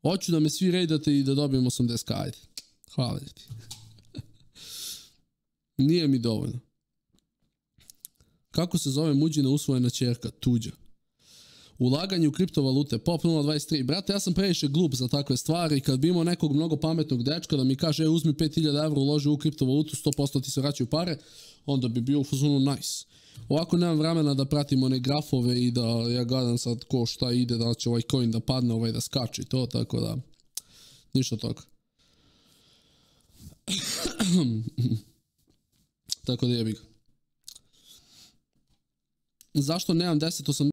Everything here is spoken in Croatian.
Hoću da me svi raidate i da dobijem 80k, ajde. Hvala ti. Nije mi dovoljno. Kako se zove muđina usvojena ćerka? Tuđa. Ulaganje u kriptovalute, Pop 023. Brate, ja sam previše glup za takve stvari. Kad bi imao nekog mnogo pametnog dečka da mi kaže uzmi 5000 evra, uloži u kriptovalutu, 100% ti se vraćaju pare, onda bi bio u fazonu nice. Ovako nemam vremena da pratim one grafove i da ja gledam sad ko šta ide, da će ovaj coin da padne, ovaj da skače i to, tako da ništa toga. Tako da jebi ga. Zašto nemam 1080